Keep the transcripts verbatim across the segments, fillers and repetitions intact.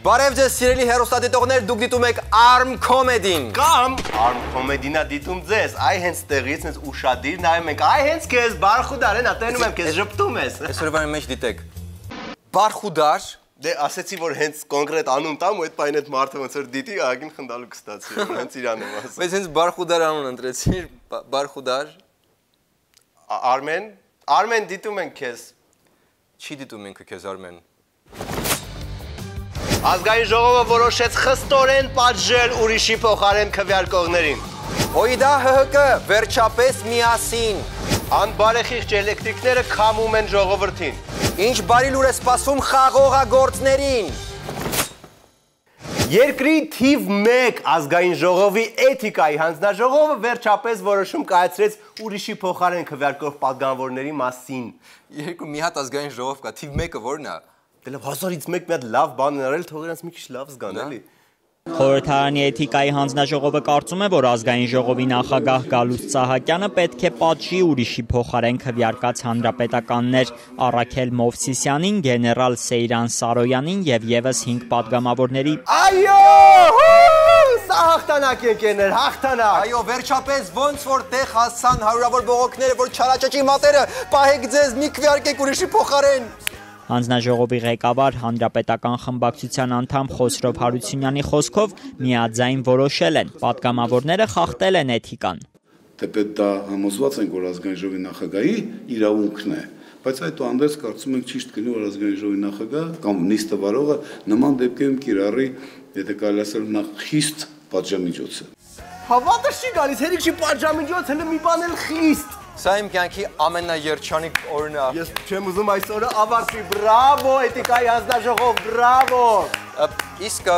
Բարև ձեզ սիրելի հեռուստադիտողներ, դուք դիտում եք Arm Comedy-ին։ Կամ Arm Comedy-նա դիտում ձեզ, այ հենց տեղից հենց ուշադիր նայում ենք, այ հենց քեզ բարխուդար են, ատենում եմ քեզ ժպտում ես։ Այսօրվա մեջ դիտեք։ Բարխուդար։ Դե ասեցի, որ հենց կոնկրետ անուն տամ ու այդ պայն այդ մարդը ոնց որ դիտի, ագին խնդալու կստացի, հենց իրան եմ ասում։ Բայց հենց բարխուդար անուն ընտրեցիր, բարխուդար։ Արմեն, Արմեն դիտում ենք քեզ։ Չի դիտում ինքը քեզ Արմեն։ Ազգային ժողովը որոշեց խստորեն պատժել ուրիշի փոխարեն քվեարկողներին։ Հոյդա ՀՀԿ վերջապես միասին։ Անբարեխիղճ էլեկտրիկները քամում են ժողովրդին։ Ինչ բարի լուր է սպասում խաղողագործներին։ Երկրի թիվ մեկ ազգային ժողովի էթիկայի հանձնաժողովը վերջապես որոշում կայացրեց ուրիշի փոխարեն քվեարկող պատգամավորների մասին։ Երկու մի հատ ազգային ժողով կա, թիվ մեկը որն է։ Դե հազարից մեկ մի հատ լավ բան արել, թող իրանց մի քիչ լավ զգան, էլի։ Խորհրդարանի էթիկայի հանձնաժողովը կարծում է, որ ազգային ժողովի նախագահ Գալուստ Սահակյանը պետք է պատժի ուրիշի փոխարեն քվեարկած հանրապետականներ Առաքել Մովսիսյանին, գեներալ Սեյրան Սարոյանին եւ եւս հինգ պատգամավորների։ Այո! Սա հաղթանակ եկերներ, հաղթանակ։ Այո, վերջապես ոնց որ տեղ հասցան հարյուրավոր բողոքները, որ չարաճճի մատերը, պահեք ձեզ, մի քվեարկեք ուրիշի փոխարեն։ Հանձնաժողովի ղեկավար հանրապետական խմբակցության անդամ Խոսրով Հարությունյանի խոսքով միաձայն որոշել են, պատգամավորները խախտել են էթիկան։ Թեպետ դա համոզված ենք, որ ազգային ժողովի նախագահի իրավունքն է, բայց այդուհանդերձ կարծում ենք ճիշտ կլինի, որ ազգային ժողովի նախագահ կամ նիստը վարողը նման դեպքերում կիրառի, եթե կարելի ասել, նախ խիստ պատժամիջոցը։ Հավատը չի գալիս, հերիք չի պատժամիջոց, հենց մի բան էլ խիստ։ Սա իմ կյանքի ամենաերջանիկ օրն է։ Ես չեմ ուզում այս օրը ավարտվի, բրավո, էթիկայի հանձնաժողով, բրավո։ Իսկ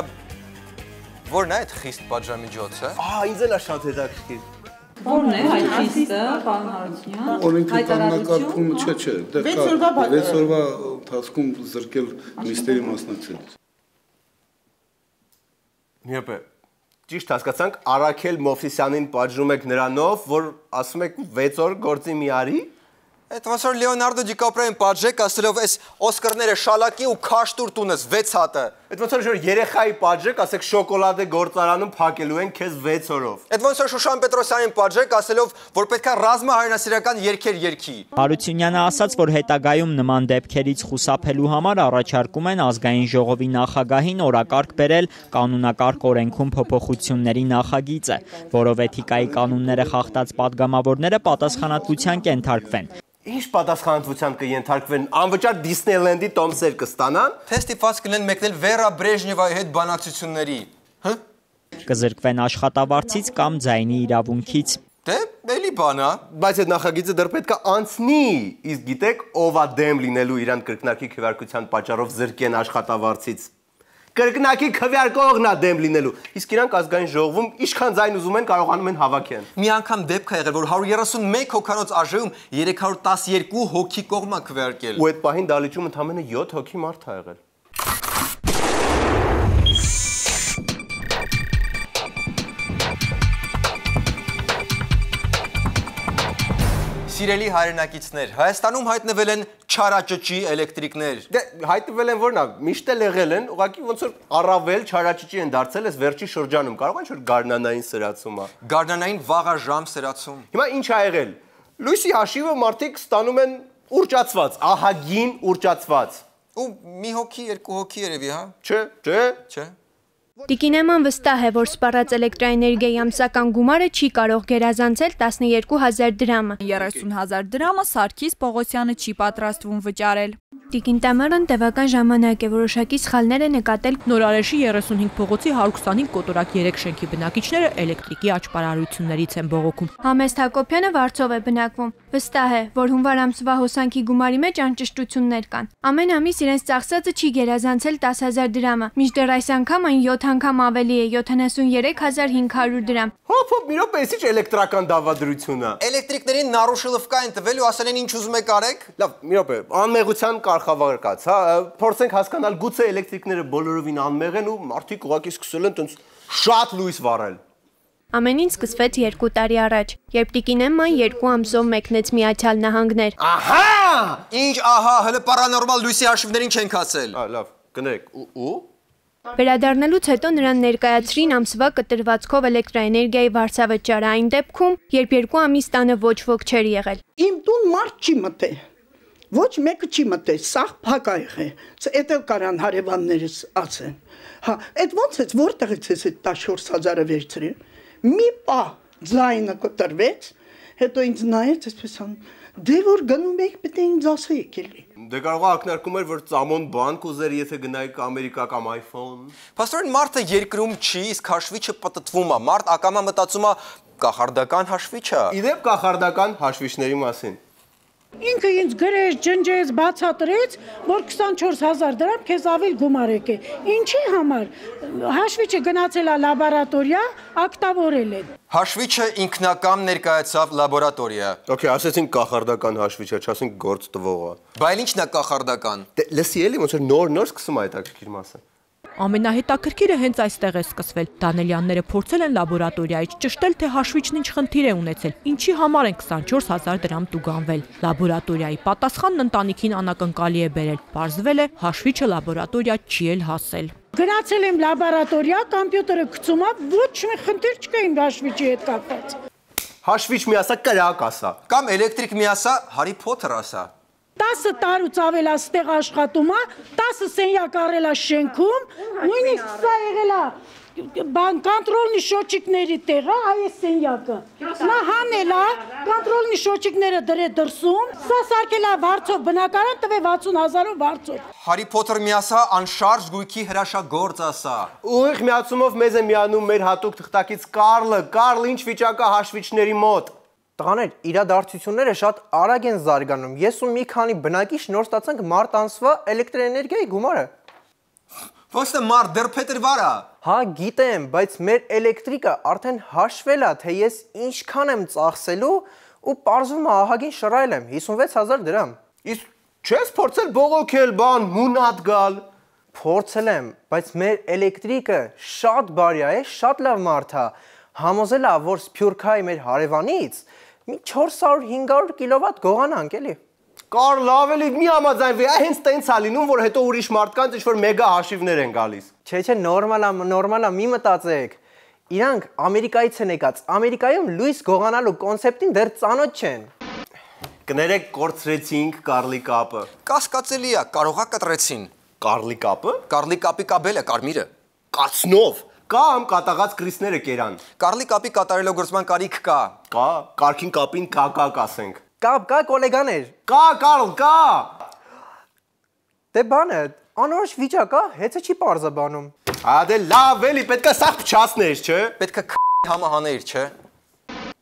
որն է այդ խիստ պատժամիջոցը։ Ահա, ինձ էլ է շատ հետաքրքիր։ Որն է այդ խիստը, պարոն Հարությունյան։ Օրենքի կանոնակարգումը չէ, չէ, դեռ կա վեց օրվա ընթացքում զրկել նիստերի մասնակցելուց։ Միապե Ճիշտ հասկացանք, Առաքել Մովսիսյանին պատժում եք նրանով, որ ասում եք վեց օր գործի մի արի։ Այդ ոնց որ Լեոնարդո Դիկապրիոին պատժեք, ասելով այս Օսկարները շալակի ու քաշտուր տունես վեց հատը։ Այդ ոնց որ երեխայի պատժեք, ասեք շոկոլադե գործարանում փակելու են քեզ վեց օրով։ Այդ ոնց որ Շուշան Պետրոսյանին պատժեք, ասելով, որ պետքա ռազմահայրենասիրական երգեր երգի։ Հարությունյանը ասաց, որ հետագայում նման դեպքերից խուսափելու համար առաջարկում են ազգային ժողովի նախագահին օրակարգ բերել կանոնակարգ օրենքում փոփոխությունների նախագիծը, որով էթիկայի կանոնները խախտած պատգամավորները պատասխանատվության կենթարկվեն։ Ինչ պատասխանատվության կենթարկվեն, անվճար Դիսնեյլենդի տոմսեր կստանան։ Թե ստիպված կլինեն մեկնել Վերա Բրեժնևայի հետ բանակցությունների։ Հը? Կզրկվեն աշխատավարձից կամ ձայնի իրավունքից։ Դե, էլի բան է։ Բայց այդ նախագիծը դեռ պետք է անցնի, իսկ գիտեք, ով է դեմ լինելու իրան կրկնակի քվեարկության պատճառով զրկեն աշխատավարձից։ Կրկնակի քվեարկողն է դեմ լինելու, իսկ իրանք ազգային ժողովում ինչքան ձայն ուզում են կարողանում են հավաքեն։ Մի անգամ դեպք է եղել, որ հարյուր երեսուն մեկ հոգանոց ԱԺ-ում երեք հարյուր տասնյոթ հոգի կողմա քվեարկել։ Ու այդ պահին դալիճում ընդամենը յոթ հոգի մարդ է եղել։ Սիրելի հայրենակիցներ, Հայաստանում հայտնվել են չարաճճի էլեկտրիկներ։ Դե հայտնվել են որնա, միշտ էլ եղել են, ուղղակի ոնց որ առավել չարաճճի են դարձել, այս վերջի շրջանում կարող են որ գարնանային սրացում է։ Գարնանային վաղաժամ սրացում։ Հիմա ինչ ա եղել։ Լույսի հաշիվը մարդիկ ստանում են ուռճացված, ահագին ուռճացված։ Ու մի հոգի, երկու հոգի երևի, հա։ Չէ, չէ, չէ։ Տիկին Էման վստահ է, որ սպառած էլեկտրաէներգիայի ամսական գումարը չի կարող գերազանցել տասնյոթ հազար դրամը։ երեսուն հազար դրամը Սարգիս Պողոսյանը չի պատրաստվում վճարել։ Տիկին Տամարան տևական ժամանակ է որոշակի սխալներ է նկատել։ Նորարեշի երեսունհինգ փողոցի հարյուր քսանհինգ կոտորակ երեք շենքի բնակիչները էլեկտրիկի աճպարարություններից են բողոքում։ Համեստ Հակոբյանը Վարձով է բնակվում։ Վստահ է, որ հունվար ամսվա հոսանքի գումարի մեջ անճշտություններ կան։ Ամեն ամիս իրենց ծախսածը չի գերազանցել տասը հազար դրամը, մինչդեռ այս անգամ այն յոթ անգամ ավելի է, յոթանասունյոթ հազար հինգ հարյուր դրամ։ Հոփ, հոփ, մի րոպե, էսի չէ էլեկտրական դավադրություն է։ Էլեկտրիկներին նարուշիլովկա են տվել ու ասել են ինչ ուզում եք արեք։ Լավ, մի րոպե, անմեղության կարգավարկած, հա, փորձենք հասկանալ գուցե էլեկտրիկները բոլորովին անմեղ են ու մարդիկ ուղղակի սկսել են տենց շատ լույս վառել։ Ամեն ինչ սկսվեց երկու տարի առաջ, երբ Տիկին Էմման երկու ամսով մեկնեց Միացյալ Նահանգներ։ Ահա! Ինչ ահա, հələ պարանորմալ լույսի հաշիվներին չենք ասել։ Ա, լավ, կներեք, ու ու Վերադառնալուց հետո նրան ներկայացրին ամսվա կտրվածքով էլեկտրաէներգիայի վարձավճարը այն դեպքում, երբ երկու ամիս տանը ոչ ոք չէր եղել։ Իմ տուն մարդ չի մտե։ Ոչ մեկը չի մտե, սաղ փակ ա եղել։ Էդ էլ կարան հարևաններս ասեն։ Հա, այդ ո՞նց է, որտեղից է այդ տասնչորս հազարը վերցրել։ Մի պա ձայնը կտրվեց, հետո ինձ նայեց, այսպես ան, դե որ գնում եք, պետք է ինձ ասեիք էլի։ Դե կարող է ակնարկում էր, որ ծամոն բան կուզեր, եթե գնայիք Ամերիկա կամ iPhone։ Պաստորեն մարդը երկրում չի, իսկ հաշվիչը պտտվում է։ Մարդ ակամա մտածում է կախարդական հաշվիչ է։ Իդեպ կախարդական հաշվիչների մասին։ Ինքը ինձ գրեց, ջնջեց, բացատրեց, որ քսանչորս հազար դրամ քեզ ավել գումար եկե։ Ինչի համար։ Հաշվիչը գնացել է լաբորատորիա, ակտավորել են։ Հաշվիչը ինքնակամ ներկայացավ լաբորատորիա։ Okay, ասեցինք կախարդական հաշվիչ է, չասենք գործ տվողը։ Բայց ինչն է կախարդական։ Դե լսի էլի ոնց որ նոր-նոր սկսում է այդ ակրկիր մասը։ Ամենահետաքրքիրը հենց այստեղ է սկսվել։ Դանելյանները փորձել են լաբորատորիայից ճշտել, թե հաշվիչն ինչ խնդիր է ունեցել, ինչի համար են քսանչորս հազար դրամ տուգանվել։ Լաբորատորիայի պատասխանն ընտանիքին անակնկալի է բերել։ Պարզվել է, հաշվիչը լաբորատորիա չի էլ հասել։ Գնացել եմ լաբորատորիա, կոմպյուտերը գցում է, ոչ մի խնդիր չկա իմ հաշվիչի հետ կապված։ Հաշվիչ մի ասա, կրակ ասա։ Կամ էլեկտրիկ մի ասա, Հարի Փոթեր ասա։ տասը տարուց ավել է ստեղ աշխատում է, տասը սենյակ առել է շենքում, նույնիսկ սա եղել է բան կոնտրոլնի շոչիկների տեղը, այս սենյակը։ Նա հանել է, կոնտրոլնի շոչիկները դրել դրսում, սա սարքել է վարձով բնակարան, տվել վաթսուն հազարով վարձով։ Հարի Փոթեր մի ասա, անշարժ գույքի հրաշագործ ասա։ Ուղիղ միացումով մեզ է միանում մեր հատուկ թղթակից Կարլը, Կարլ ինչ վիճակա հաշվիչների մոտ։ Տղաներ, իրադարձությունները շատ արագ են զարգանում։ Ես ու մի քանի բնակիչ նոր ստացանք մարտ ամսվա էլեկտրաէներգիայի գումարը։ Ոնց է մարդ դեռ փետրվար է։ Հա, գիտեմ, բայց մեր էլեկտրիկը արդեն հաշվել է, թե ես ինչքան եմ ծախսելու ու պարզվում է ահագին շռայլ եմ, հիսունվեց հազար դրամ։ Իսկ չես փորձել բողոքել, բան, մունատ գալ։ Փորձել եմ, բայց մեր էլեկտրիկը շատ բարի է, շատ լավ մարդ է։ Համոզել է, որ Սփյուռքայի մեր հարևանից մի չորս հարյուր հինգ հարյուր կիլովատ գողանանք էլի։ Կարլ ավելի մի համաձայնվի, այ հենց տենց է լինում, որ հետո ուրիշ մարդկանց ինչ-որ մեգա հաշիվներ են գալիս։ Չէ, չէ, նորմալ է, նորմալ է, մի մտածեք։ Իրանք Ամերիկայից են եկած, Ամերիկայում լույս գողանալու կոնցեպտին դեռ ծանոթ չեն։ Կներեք, կորցրեցինք Կարլի կապը։ Կասկածելի է, կարողա կտրեցին։ Կարլի կապը։ Կարլի կապի կաբելը, կարմիրը։ Կացնով։ Կամ կատաղած կրիսները կերան։ Կարլի կապի կատարելագործման կարիք կա։ Կա, կարքին կապին կա կա կասենք։ Կապ կա գոլեգաներ։ Կա, Կարլ, կա։ Դե բանը, անորոշ վիճակ է, հեծը չի պարզաբանում։ Հա դե լավ էլի, պետք է սաղ փչացներ, չէ։ Պետք է համահաներ, չէ։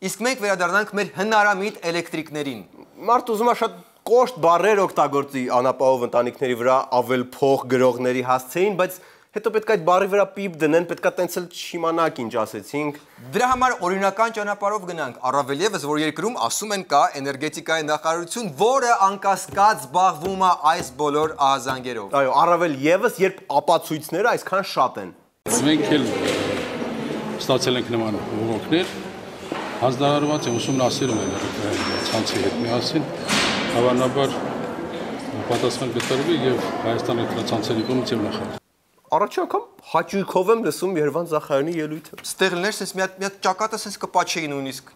Իսկ մենք վերադառնանք մեր հնարամիտ էլեկտրիկներին։ Մարդ ուզում է շատ կոշտ բառեր օգտագործի անապահով ընտանիքների վրա ավել փող գրողների հասցեին, բայց հետո պետք է այդ բառի վրա պիպ դնեն, պետք է տենց էլ չիմանաք ինչ ասեցինք։ Դրա համար օրինական ճանապարհով գնանք, առավել եւս որ երկրում ասում են կա էներգետիկայի նախարարություն, որը անկասկած զբաղվում է այս բոլոր ահազանգերով։ Այո, առավել եւս երբ ապացույցները այսքան շատ են։ Մենք էլ ստացել ենք նման բողոքներ, հանձնարարված է ուսումնասիրել են ցանցի հետ միասին, հավանաբար պատասխան կտրվի եւ Հայաստան էլեկտրացանցերի կողմից եւ նախարար։ Առաջին անգամ հաճույքով եմ լսում Երևան Զախարյանի ելույթը։ Ստեղ լներ sense մի հատ մի հատ ճակատը sense կպաչեի նույնիսկ։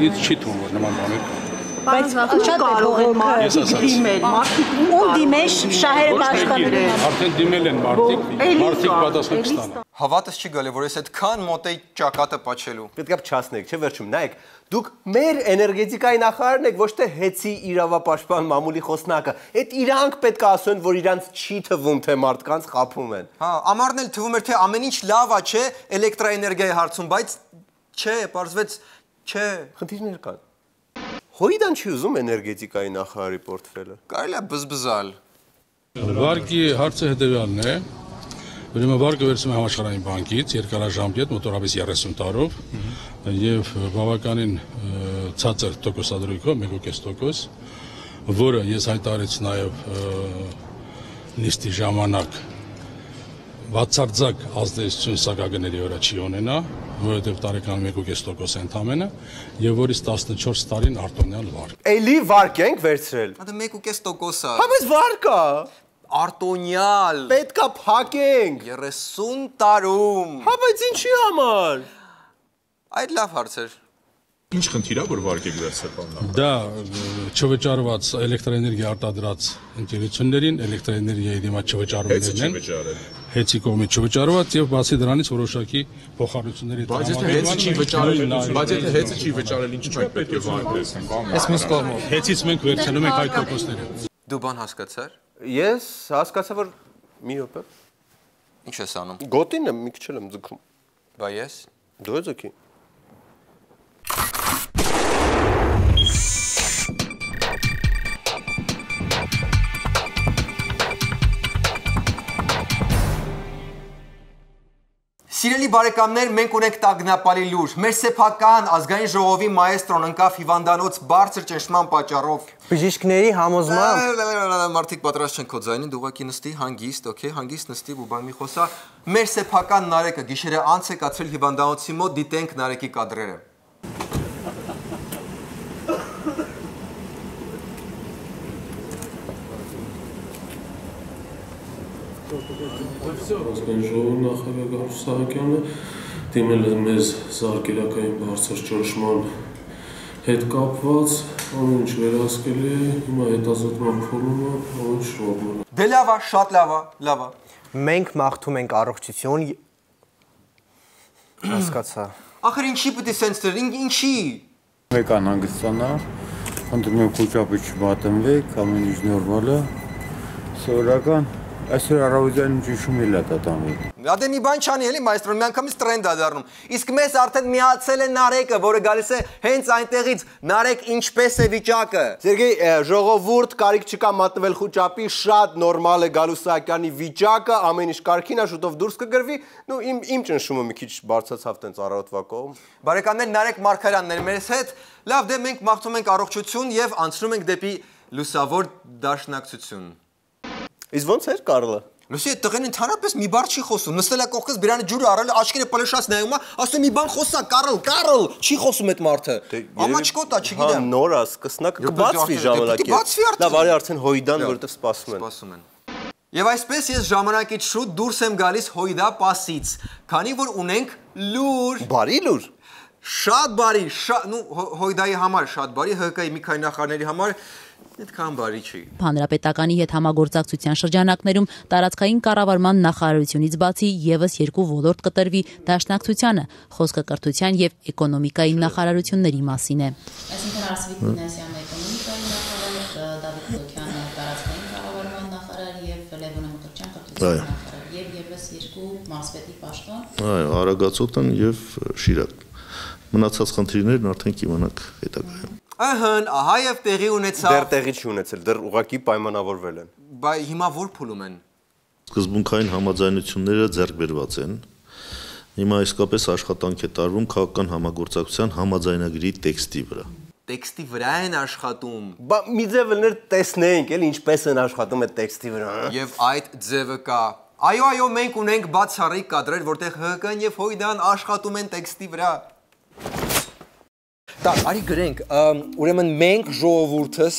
Ինձ չի թվում որ նման բաներ կա։ Բայց շատ կարող են մարդիկ դիմել, մարդիկ ում դիմеш շահերը բաշխատել։ Արդեն դիմել են մարդիկ, մարդիկ պատասխան կստանան։ Հավատս չի գալի, որ ես այդքան մոտ էի ճակատը պաչելու։ Պետք է փչացնեք, չէ՞ վերջում, նայեք, դուք մեր էներգետիկայի նախարարն եք, ոչ թե հեծի իրավապաշտպան մամուլի խոսնակը։ Այդ իրանք պետք է ասեն, որ իրանց չի թվում, թե մարդկանց խափում են։ Հա, ամառն էլ թվում էր, թե ամեն ինչ լավ է, չէ, էլեկտրաէներգիայի հարցում, բայց չէ, պարզվեց, չէ։ Խնդիրներ կան։ Հոյդան չի ուզում էներգետիկայի նախարարի պորտֆելը։ Կարելի է բզբզալ։ Վարկի հարցը հետևյալն է։ Ուրեմն վարկը վերցնում է համաշխարհային բանկից երկարաժամկետ մոտորապես երեսուն տարով եւ բավականին ցածր տոկոսադրույքով մեկ կես տոկոս, որը ես հայտարարեցի նաեւ նիստի ժամանակ բացարձակ ազդեցություն սակագների վրա չի ունենա, որովհետև տարեկան մեկ կես տոկոս ընդամենը եւ որից տասնչորս տարին արտոնյալ վարկ։ Էլի վարկ ենք վերցրել։ Հա դա մեկ կես տոկոս է։ Հա բայց վարկ է։ արտոնյալ։ Պետքա փակենք։ երեսուն տարում։ Հա, բայց ինչի համար։ Այդ լավ հարց էր։ Ինչ խնդիր է, որ վարկեք վերցրել։ Դա չվճարված էլեկտրոէներգիա արտադրած ընկերություններին էլեկտրոէներգիայի դիմաց չվճարումներն են։ Հեցի կողմից չվճարված եւ բացի դրանից որոշակի փոխառությունների Բայց եթե հեցը չի վճարել, բայց եթե հեցը չի վճարել, ինչու է պետք է վարկել։ Այս մյուս կողմով հեցից մենք վերցնում ենք այդ տոկոսները։ Դու բան հասկացար։ Ես հասկացա, որ մի րոպե։ Ինչ ես անում։ Գոտին եմ, մի քիչ եմ ձգում։ Բա ես։ Դու ես օքեյ։ Սիրելի բարեկամներ, մենք ունենք տագնապալի լուր։ Մեր սեփական ազգային ժողովի մայեստրոն ընկավ հիվանդանոց բարձր ճնշման պատճառով։ Բժիշկների համոզմամբ մարդիկ պատրաստ չեն քո ձայնին, դու ուղղակի նստի հանգիստ, օքեյ, հանգիստ նստի ու բան մի խոսա։ Մեր սեփական Նարեկը գիշերը անց է կացրել հիվանդանոցի մոտ, դիտենք Նարեկի կադրերը։ Ազգային ժողովի նախագահ Գարուս Սահակյանը դիմել է մեզ զարգերակային բարձր ճնշման հետ կապված, ամեն ինչ վերահսկել է, հիմա հետազոտման փուլում է, ամեն ինչ շողում է։ Դե լավ է, շատ լավ է, լավ է։ մենք մաղթում ենք առողջություն հասկացա։ Ախր ինչի պետք է սենց դեր, ինչի։ Մեկան հանգստանա, խնդրում եմ խոճապի չմատնվեք, ամեն ինչ նորմալ է, սովորական Այսօր առավոտյան ճնշում էլ է տատամի։ Դե մի բան չանի էլի մայստրոն, մի անգամից տրենդ է դառնում։ Իսկ մեզ արդեն միացել է Նարեկը, որը գալիս է հենց այնտեղից։ Նարեկ, ինչպես է վիճակը։ Սերգեյ, ժողովուրդ, կարիք չկա մատնվել խոճապի, շատ նորմալ է Գալուս Սահակյանի վիճակը, ամեն ինչ կարգին է, շուտով դուրս կգրվի։ Նու իմ իմ ճնշումը մի քիչ բարձրացավ տենց առավոտվա կողմ։ Բարեկամներ, Նարեկ Մարգարյանն էր մեզ հետ։ Լավ, դե մենք մաղթում ենք առողջություն եւ անցնում ենք դեպի լուսավոր դաշնակցություն։ Իսկ ո՞նց էր Կարլը։ Լսի, այդ տղեն ընդհանրապես մի բառ չի խոսում, նստել է կողքից բերանը ջուրը առել, աչքերը պլշած նայում է, ասում մի բան խոսա, Կարլ, Կարլ, չի խոսում այդ մարդը։ Ամաչկոտ է, չգիտեմ։ Հա, նոր է, սկսնակ կբացվի ժամանակի։ Լավ, արի արդեն հոյդան, որովհետև սպասում են։ Սպասում են։ Եվ այսպես ես ժամանակից շուտ դուրս եմ գալիս հոյդա պասից, քանի որ ունենք լուր։ Բարի լուր։ Շատ բարի, նու հոյդայի համար շատ բարի, ՀԿ-ի մի քանի նախարարների համար այդքան բարի չի։ Հանրապետականի հետ համագործակցության շրջանակներում տարածքային կառավարման նախարարությունից բացի եւս երկու ոլորտ կտրվի դաշնակցությանը, խոսքը կրթության եւ էկոնոմիկայի նախարարությունների մասին է։ Այսինքն Արսվիկ Մինասյանը էկոնոմիկայի նախարար, Դավիթ Թոքյանը տարածքային կառավարման նախարար եւ Լևոն Մկրտչյան կրթության նախարար եւ եւս երկու մարզպետի պաշտոն։ Այո, Արագածոտն եւ Շիրակ։ Մնացած խնդիրներն արդեն կիմանաք հետագայում։ Ահն, ահա եւ տեղի ունեցավ։ Դեռ տեղի չի ունեցել, դեռ ուղղակի պայմանավորվել են։ Բայ հիմա որ փուլում են։ Սկզբունքային համաձայնությունները ձեռք բերված են։ Հիմա իսկապես աշխատանք է տարվում քաղաքական համագործակցության համաձայնագրի տեքստի վրա։ Տեքստի վրա են աշխատում։ Բա մի ձև լներ տեսնենք, էլի ինչպես են աշխատում այդ տեքստի վրա։ Եվ այդ ձևը կա։ Այո, այո, մենք ունենք բացառիկ կադրեր, որտեղ ՀԿ-ն եւ հոյդան աշխատում են տեքստի վրա։ Так, արի գրենք, ուրեմն մենք ժողովուրդս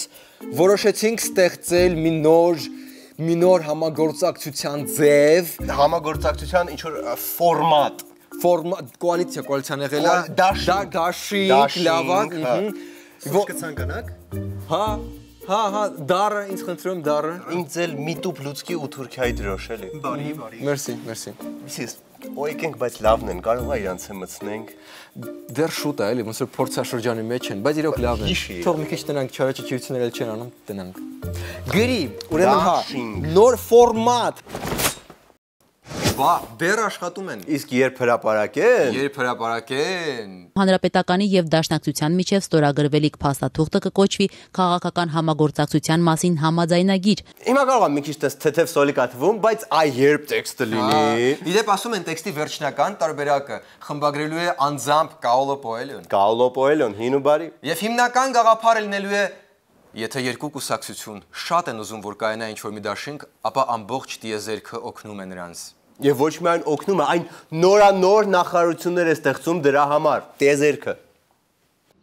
որոշեցինք ստեղծել մի նոր մի նոր համագործակցության ձև, համագործակցության ինչ որ ֆորմատ, ֆորմատ, կոալիցիա, կոալիցիան եղել է, դաշինք, լավակ, ոչ կցանկանաք։ Հա, հա, հա, դարը, ինձ խնդրում դարը։ Ինձ էլ միտուփ լուցկի ու թուրքիայի դրոշ էլի։ Բարի, բարի։ Մերսի, մերսի։ Միսիս, օյքենք, բայց լավն են, կարող է իրանց մտցնենք։ Դեռ շուտ է, էլի, ոնց որ փորձաշրջանի մեջ են, բայց իրոք լավն է։ Թող մի քիչ տնանք, չարաճճիություններ էլ չեն անում, տնանք։ Գրի, ուրեմն հա, նոր ֆորմատ։ Բա, դեռ աշխատում են։ Իսկ երբ հրապարակեն։ Երբ հրապարակեն։ Հանրապետականի եւ Դաշնակցության միջև ստորագրվելիք փաստաթուղթը կկոչվի քաղաքական համագործակցության մասին համաձայնագիր։ Հիմա կարող եմ մի քիչ տես թեթև սոլիկա թվում, բայց այ երբ տեքստը լինի։ Իդեպ ասում են տեքստի վերջնական տարբերակը խմբագրելու է անձամբ Կաուլո Պոելյոն։ Կաուլո Պոելյոն, հին ու բարի։ Եվ հիմնական գաղափարը լինելու է եթե երկու կուսակցություն շատ են ուզում որ կայանա ինչ-որ մի դաշինք, ապա ամբողջ տիեզերքը օգնում է նրանց։ Եվ ոչ միայն օգնում է, այն նորանոր նախարարություններ է ստեղծում դրա համար, տիեզերքը։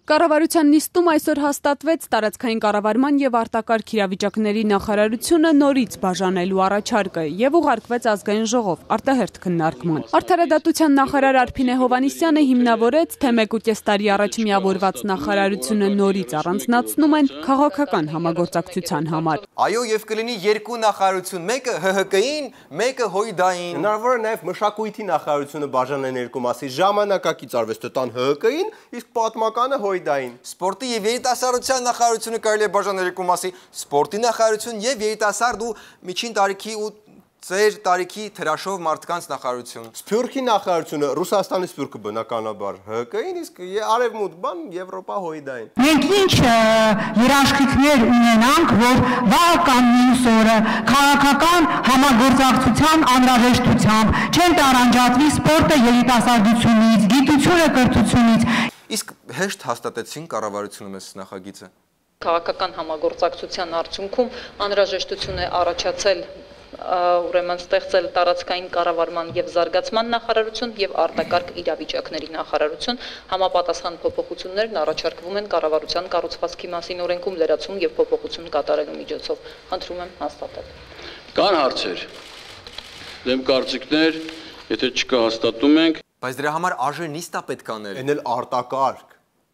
Կառավարության նիստում այսօր հաստատվեց տարածքային կառավարման եւ արտակարգ իրավիճակների նախարարությունը նորից բաժանելու առաջարկը եւ ուղարկվեց ազգային ժողով արտահերթ քննարկման։ Արդարադատության նախարար Արփինե Հովհաննիսյանը հիմնավորեց, թե մեկ ու կես տարի առաջ միավորված նախարարությունը նորից առանձնացնում են քաղաքական համագործակցության համար։ Այո, եւ կլինի երկու նախարարություն, մեկը Հ Հ Կ-ին, մեկը Հույդային։ Հնարավոր է նաեւ մշակույթի նախարարությունը բաժանեն երկու մասի, ժամանակակից արվեստը տան Հ Հ Կ-ին, իսկ պատմականը Հույդային։ Սպորտի եւ երիտասարդության նախարարությունը կարելի է բաժանել երկու մասի, սպորտի նախարարություն եւ երիտասարդ ու միջին տարիքի ու ծեր տարիքի թրաշով մարդկանց նախարարություն։ Սփյուռքի նախարարությունը Ռուսաստանի սփյուռքը բնականաբար Հ Հ Կ-ին, իսկ արևմուտք բան Եվրոպա Հույդային։ Մենք ինչ երաշխիքներ ունենանք, որ վաղ կամ մյուս օրը քաղաքական համագործակցության անհրաժեշտությամբ չեն տարանջատվի սպորտը երիտասարդությունից, գիտությունը կրթությունից։ Իսկ հեշտ հաստատեցին կառավարությունը մեզ նախագիծը։ Քաղաքական համագործակցության արդյունքում անհրաժեշտություն է առաջացել ուրեմն ստեղծել տարածքային կառավարման եւ զարգացման նախարարություն եւ արտակարգ իրավիճակների նախարարություն, համապատասխան փոփոխություններն առաջարկվում են կառավարության կառուցվածքի մասին օրենքում լրացում եւ փոփոխություն կատարելու միջոցով։ Խնդրում եմ հաստատել։ Կան հարցեր, դեմ կարծիքներ, եթե չկա հաստատում ենք։ Բայց դրա համար արժե նիստ է պետք անել։ Էն էլ արտակարգ։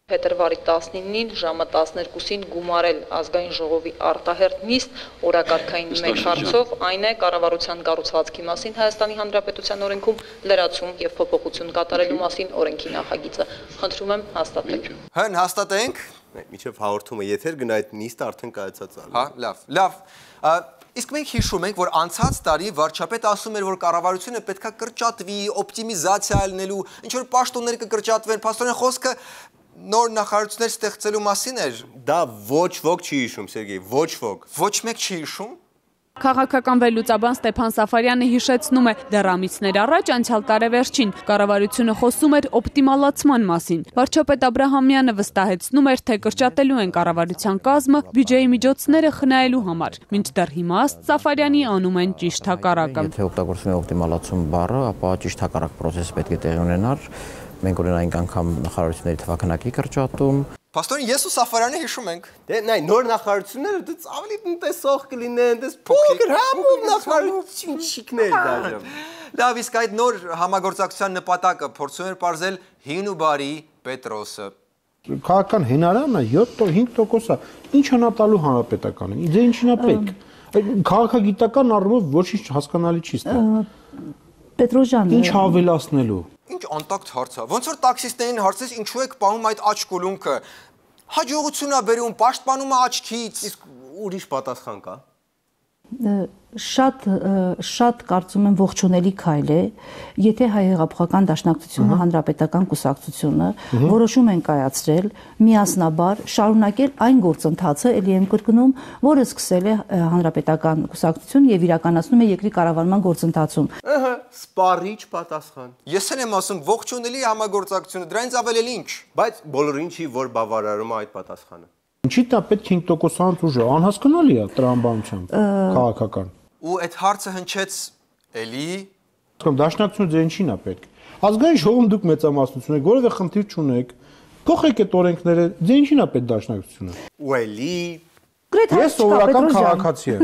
Փետրվարի տասնինին ժամը տասներկուսին գումարել ազգային ժողովի արտահերթ նիստ օրակարգային մեկ հարցով, այն է կառավարության կառուցվածքի մասին Հայաստանի Հանրապետության օրենքում լրացում եւ փոփոխություն կատարելու մասին օրենքի նախագիծը։ Խնդրում եմ հաստատել։ Հն հաստատենք։ Միջև հաղորդումը եթեր գնա այդ նիստը արդեն կայացած է։ Հա, լավ, լավ։ Իսկ մենք հիշում ենք, որ անցած տարի վարչապետը ասում էր, որ կառավարությունը պետքա կրճատվի, օպտիմիզացիա լինելու, ինչ որ պաշտոններ կկրճատվեն, փաստորեն խոսքը նոր նախարարություններ ստեղծելու մասին էր։ Դա ոչ ոք չի հիշում, Սերգեյ, ոչ ոք։ Ոչ մեկ չի հիշում։ Քաղաքական վերլուծաբան Ստեփան Սաֆարյանը հիշեցնում է, դեռ ամիսներ առաջ անցյալ տարեվերջին կառավարությունը խոսում էր օպտիմալացման մասին։ Վարչապետ Աբրահամյանը վստահեցնում էր, թե կրճատելու են կառավարության կազմը բյուջեի միջոցները խնայելու համար։ Մինչդեռ հիմա Սաֆարյանի անում են ճիշտ հակառակը։ Եթե օգտագործվում է օպտիմալացում բառը, ապա ճիշտ հակառակ process պետք է տեղի ունենար։ Մենք ունենայինք անգամ նախարարությունների թվականակի կրճատում։ Փաստորեն ես ու Սաֆարյանը հիշում ենք։ Դե նայ նոր նախարարությունները դից ավելի տնտեսող կլինեն, դες փոքր համով նախարարություններ դաժան։ Լավ, իսկ այդ նոր համագործակցության նպատակը փորձում էր բարձել հին ու բարի Պետրոսը։ Քաղաքական հենարանը յոթ-հինգ տոկոս է։ Ինչ հնա տալու հանրապետականին։ Դե ինչին է պետք։ Քաղաքագիտական առումով ոչինչ հասկանալի չի ստա։ Պետրոսյան։ Ինչ ավելացնելու։ Ինչ անտակտ հարց է։ Ոնց որ տաքսիստներին հարցես ինչու եք պահում այդ աչք կոլունքը։ Հաջողություն է բերում, պաշտպանում է աչքից։ Իսկ ուրիշ պատասխան կա։ Շատ շատ կարծում եմ ողջունելի քայլ է, եթե Հայ հեղափոխական դաշնակցությունը, հանրապետական կուսակցությունը որոշում են կայացրել միասնաբար շարունակել այն գործընթացը, ելի եմ կրկնում, որը սկսել է հանրապետական կուսակցությունը եւ իրականացնում է երկրի կառավարման գործընթացում։ Ահա, սպառիչ պատասխան։ Ես էլ եմ ասում ողջունելի համագործակցությունը, դրանից ավել էլ ինչ։ Բայց բոլորին չի որ բավարարում այդ պատասխանը։ Ինչի՞ դա պետք է հինգ տոկոսանոց ուժը, անհասկանալի է տրամաբանությամբ քաղաքական։ Ու այդ հարցը հնչեց էլի։ Կամ դաշնակցությունը ձեր ինչին է պետք։ Ազգային ժողովում դուք մեծամասնություն եք, որևէ խնդիր չունեք։ Փոխեք այդ օրենքները, ձեր ինչին է պետք դաշնակցությունը։ Ու էլի։ Ես սովորական քաղաքացի եմ։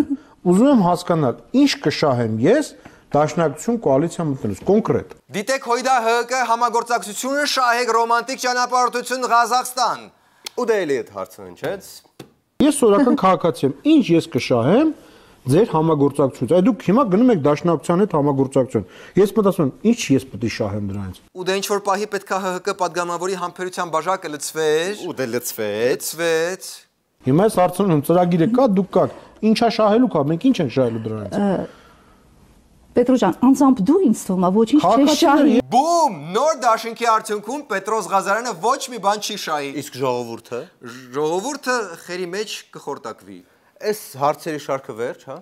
Ուզում եմ հասկանալ, ինչ կշահեմ ես դաշնակցություն կոալիցիա մտնելուց կոնկրետ։ Դիտեք Հույդա Հ Հ Կ համագործակցությունը, շահեք ռոմանտիկ ճանապարհորդություն Ղազախստան։ Ու դե էլի այդ հարցը հնչեց։ Ես սովորական քաղաքացի եմ, ինչ ես կշահեմ ձեր համագործակցությունից։ Այդ դուք հիմա գնում եք դաշնակցության հետ համագործակցություն։ Ես մտածում եմ, ինչ ես պետք է շահեմ դրանից։ Ու դե ինչ որ պահի պետքա Հ Հ Կ падգամավորի համբերության բաժակը լցվեր։ Ու դե լցվեց, լցվեց։ Հիմա ես հարցնում եմ, ծրագիրը կա, դուք կաք, ինչա շահելու կա, մենք ինչ ենք շահելու դրանից։ Պետրոսյան, անձամբ դու ինձ թվում է ոչինչ չի շահի։ Բում, նոր դաշինքի արդյունքում Պետրոս Ղազարյանը ոչ մի բան չի շահի։ Իսկ ժողովուրդը։ Ժողովուրդը խերի մեջ կխորտակվի։ Այս հարցերի շարքը վերջ, հա։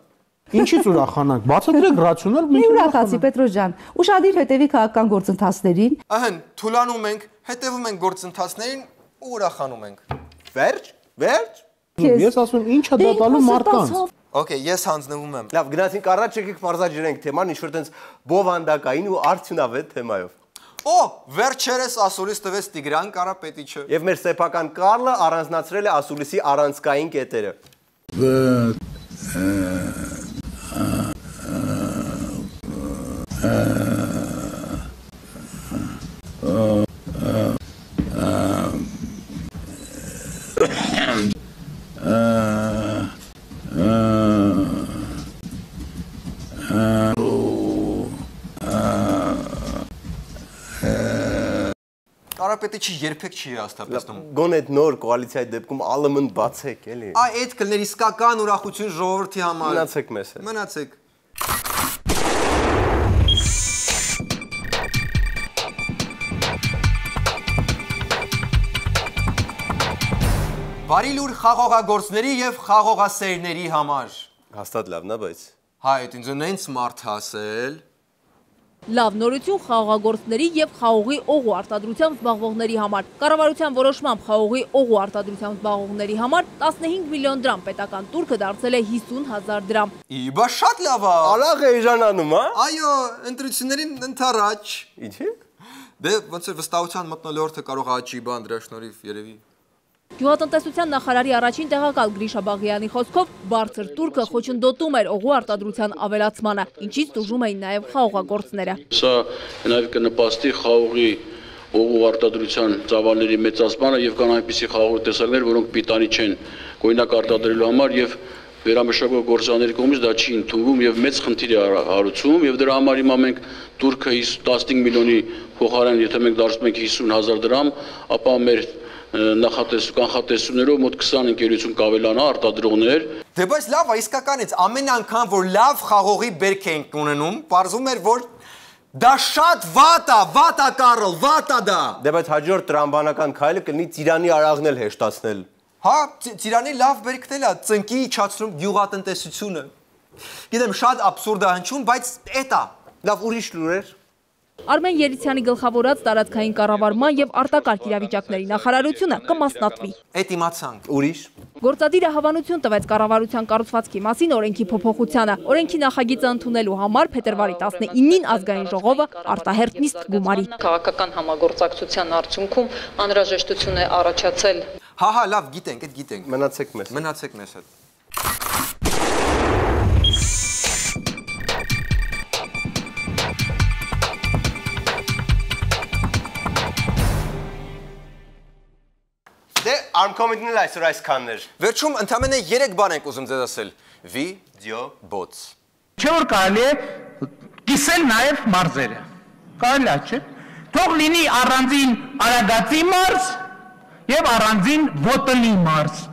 Ինչից ուրախանանք։ Բացատրեք ռացիոնալ մենք ուրախացի Պետրոսյան։ Ուշադիր հետևի քաղաքական գործընթացներին։ Ահն, թուլանում ենք, հետևում ենք գործընթացներին ու ուրախանում ենք։ Վերջ, վերջ։ Ես ասում եմ, ինչա դա տալու մարդկանց։ Okay, ես հանձնվում եմ։ Լավ, գնացինք առաջ եկեք մարզաջրենք թեման, ինչ որ տենց բովանդակային ու արդյունավետ թեմայով։ Օ, վերջերս ասուլիս տվեց Տիգրան Կարապետիչը։ Եվ մեր սեփական Կարլը առանձնացրել է ասուլիսի առանցքային կետերը։ Կարապետիչը երբեք չի հաստատեցնում։ Գոնե այդ նոր կոալիցիայի դեպքում ԱԼՄ-ն բացեք, էլի։ Այ այդ կլներ իսկական ուրախություն ժողովրդի համար։ Մնացեք մեզ հետ։ Մնացեք։ Բարի լուր խաղողագործների եւ խաղողասերների համար։ Հաստատ լավն է, բայց։ Հա, այդ ինձ նենց մարդ հասել։ Լավ նորություն խաղողագործների եւ խաղողի օղու արտադրությամբ զբաղվողների համար։ Կառավարության որոշմամբ խաղողի օղու արտադրությամբ զբաղվողների համար տասնհինգ միլիոն դրամ պետական տուրքը դարձել է հիսուն հազար դրամ։ Իբա շատ լավ է։ Ալաղ է էժանանում, հա։ Այո, ընտրություններին ընթառաջ։ Ինչի՞։ Դե ոնց է վստահության մթնոլորտը կարող է աճի բան դրա շնորհիվ երևի։ Գյուղատնտեսության նախարարի առաջին տեղակալ Գրիշա Բաղյանի խոսքով բարձր տուրքը խոչընդոտում էր օղու արտադրության ավելացմանը, ինչից տուժում էին նաև խաղողագործները։ Սա նաև կնպաստի խաղողի օղու արտադրության ծավալների մեծացմանը եւ կան այնպիսի խաղողի տեսակներ, որոնք պիտանի չեն գույնակ արտադրելու համար եւ վերամշակող գործարանների կողմից դա չի ընդունվում եւ մեծ խնդիր է հարուցում եւ դրա համար հիմա մենք տուրքը տասնհինգ միլիոնի փոխարեն եթե մենք դարձնում ենք հիսուն հազար դրամ, ապա մեր նախատեսու կանխատեսումներով մոտ քսան ընկերություն կավելանա արտադրողներ։ Դե բայց լավ է, իսկականից ամեն անգամ որ լավ խաղողի բերք ենք ունենում, պարզվում էր որ դա շատ վատ է, վատ է Կարլ, վատ է դա։ Դե բայց հաջորդ տրամբանական քայլը կլինի Ծիրանի արաղն էլ հեշտացնել։ Հա, Ծիրանի լավ բերքն էլ է, ծնկի իջացնում գյուղատնտեսությունը։ Գիտեմ շատ աբսուրդ է հնչում, բայց էդ է։ Լավ ուրիշ լուրեր։ Արմեն Երիցյանի գլխավորած տարածքային կառավարման եւ արտակարգ իրավիճակների նախարարությունը կմասնատվի։ Էդ իմացանք։ Ուրիշ։ Գործադիրը հավանություն տվեց կառավարության կառուցվածքի մասին օրենքի փոփոխությանը։ Օրենքի նախագիծը ընդունելու համար փետրվարի տասնինին ազգային ժողովը արտահերթ նիստ գումարի։ Քաղաքական համագործակցության արդյունքում անհրաժեշտություն է առաջացել։ Հա, հա, լավ, գիտենք, այդ գիտենք։ Մնացեք մեզ։ Մնացեք մեզ հետ։ Դե Armcom-ին էլ այսօր այսքաններ։ Վերջում ընդամենը երեք բան ենք ուզում ձեզ ասել։ Վի, դիո, բոց։ Չէ որ կարելի է կիսել նաև մարզերը։ Կարելի է, չէ՞։ Թող լինի առանձին Արագածի մարզ եւ առանձին Ոտնի մարզ։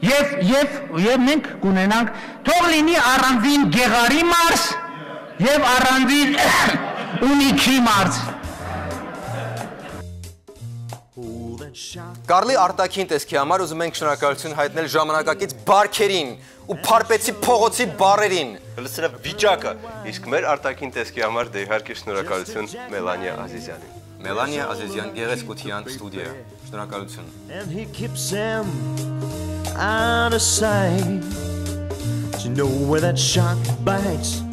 Եվ եւ եւ մենք կունենանք թող լինի առանձին Գեղարի մարզ եւ առանձին Ունիքի մարզ։ Կարլի արտաքին տեսքի համար ուզում ենք շնորհակալություն հայտնել ժամանակակից բարքերին ու փարպեցի փողոցի բարերին։ Լսրա վիճակը, իսկ մեր արտաքին տեսքի համար դե իհարկե շնորհակալություն Մելանիա Ազիզյանին։ Մելանիա Ազիզյան գեղեցկության ստուդիա։ Շնորհակալություն։ And he keeps him out of sight. Do you know where that shark bites?